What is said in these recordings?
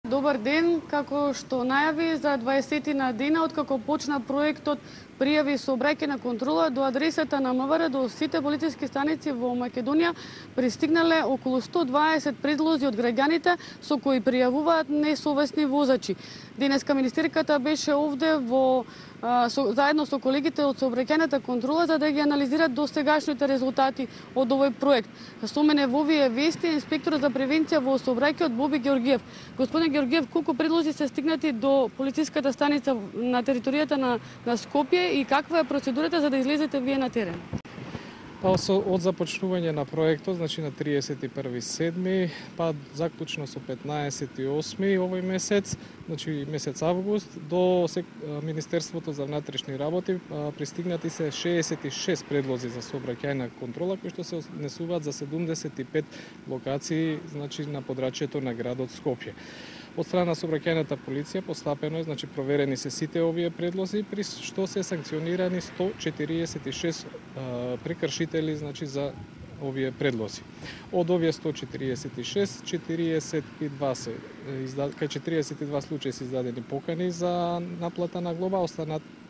Добар ден, како што најави за 20 на дена откако почна проектот пријави сообраќајна контрола до адресата на МВР до сите полициски станици во Македонија пристигнале околу 120 предлози од граѓаните со кои пријавуваат несовесни возачи. Денеска министерката беше овде заедно со колегите од сообраќајната контрола за да ги анализират досегашните резултати од овој проект. Со мене во овие вести инспекторот за превенција во сообраќајот Боби Георгиев. Господин Георгиев, колку предлози се стигнати до полициската станица на територијата на Скопје и каква е процедурата за да излезете вие на терен? Од започнување на проектот, значи на 31.7, па заклучно со 15.8 овој месец, значи месец август, до Министерството за внатрешни работи пристигнати се 66 предлози за сообраќајна контрола кои што се однесуваат за 75 локации, значи на подрачјето на градот Скопје. Од страна на сообраќајната полиција постапено е, значи проверени се сите овие предлози, при што се санкционирани 146 прекршители, значи за овие предлози. Од овие 146, 42 случаи се издадени покани за наплата на глоба,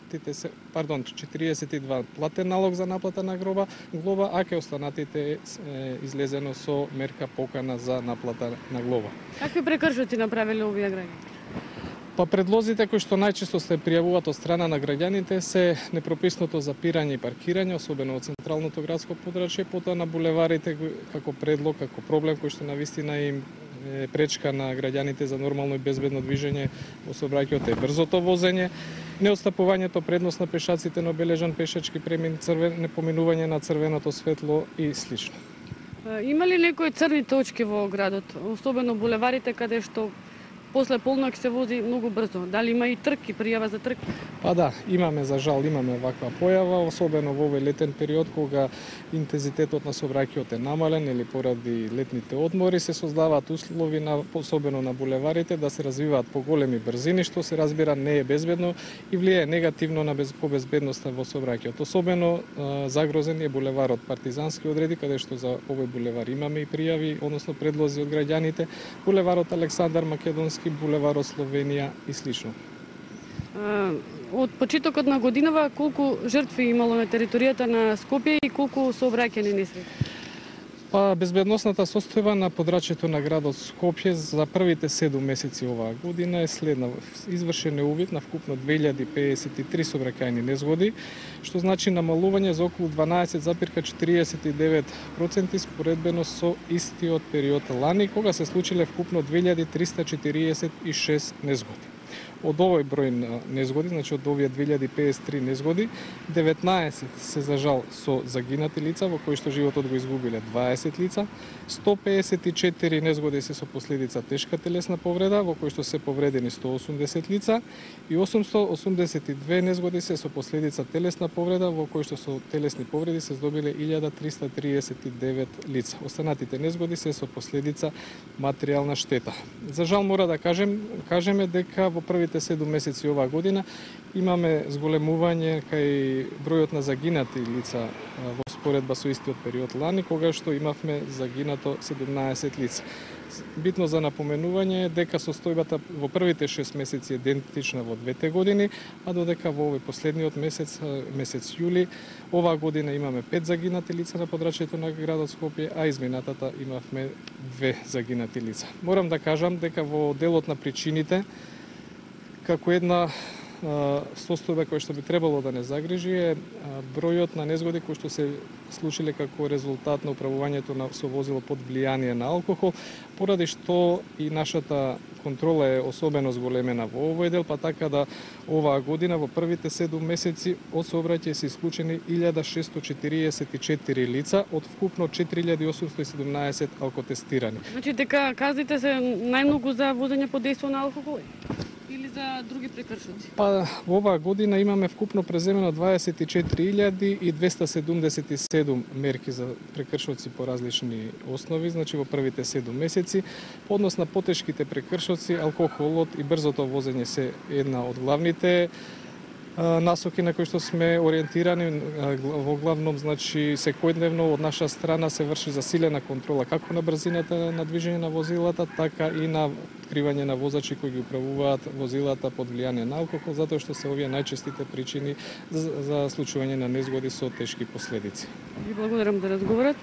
42 платен налог за наплата на глоба, а ке останатите излезено со мерка покана за наплата на глоба. Какви прекршоци направиле овие граѓани? Па предлозите кои што најчесто се пријавуваат од страна на граѓаните се непрописното запирање и паркирање, особено во централното градско подрачје, потоа на булеварите како предлог, како проблем кој што навистина им пречка на граѓаните за нормално и безбедно движење во сообраќајот е брзото возење, неотстапувањето предност на пешаците на обележан пешачки премин, непоминување на црвеното светло и слично. Има ли некои црни точки во градот, особено булеварите каде што после полнок се вози многу брзо? Дали има и трки, пријава за трки? Па да, за жал имаме ваква појава, особено во овој летен период кога интензитетот на сообраќајот е намален или поради летните одмори, се создаваат услови особено на булеварите да се развиваат поголеми брзини, што се разбира не е безбедно и влијае негативно на безбедноста во сообраќајот. Особено загрозен е булеварот Партизански одреди, каде што за овој булевар имаме и пријави, односно предлози од граѓаните, булеварот Александар Македонски, булеварот Словенија и слично. Од почетокот на годинава колку жртви имало на територијата на Скопје и колку сообраќајни несреќи? Па безбедносната состојба на подрачјето на градот Скопје за првите 7 месеци оваа година е следна. Извршен е увид на вкупно 2053 сообраќајни незгоди, што значи намалување за околу 12,49% споредбено со истиот период лани, кога се случиле вкупно 2346 незгоди. Од овој број на незгоди, значи од овие 2053 незгоди, 19 се за жал со загинати лица, во кои што животот го изгубиле 20 лица, 154 незгоди се со последица тешка телесна повреда, во кои што се повредени 180 лица, и 882 незгоди се со последица телесна повреда, во кои што со телесни повреди се здобиле 1339 лица. Останатите незгоди се со последица материјална штета. За жал мора да кажеме дека во првите 7 месеци оваа година имаме зголемување кај бројот на загинати лица во споредба со истиот период лани, кога што имавме загинато 17 лица. Битно за напоменување е дека состојбата во првите 6 месеци е идентична во двете години, а додека во овој последниот месец јули, оваа година имаме 5 загинати лица на подрачјето на градот Скопје, а изминатата имавме 2 загинати лица. Морам да кажам дека во делот на причините, како една состојба која што би требало да не загрижи е бројот на незгоди кои што се случиле како резултат на управувањето со возило под влијание на алкохол, поради што и нашата контрола е особено зголемена во овој дел, па така да оваа година во првите 7 месеци од сообраќај се исклучени 1644 лица од вкупно 4817 алкотестирани. Значи дека казните се најмногу за возење под дејство на алкохол? Или за други прекршоци? Па во оваа година имаме вкупно преземено 24.277 мерки за прекршоци по различни основи, значи во првите 7 месеци. По однос на потешките прекршоци, алкохолот и брзото возење се една од главните насоки на кои што сме ориентирани. Во главном, значи, секојдневно од наша страна се врши засилена контрола како на брзината на движење на возилата, така и на откривање на возачи кои ги управуваат возилата под влијание на алкохол, затоа што се овие најчестите причини за случување на незгоди со тешки последици. Ви благодарам за разговорот.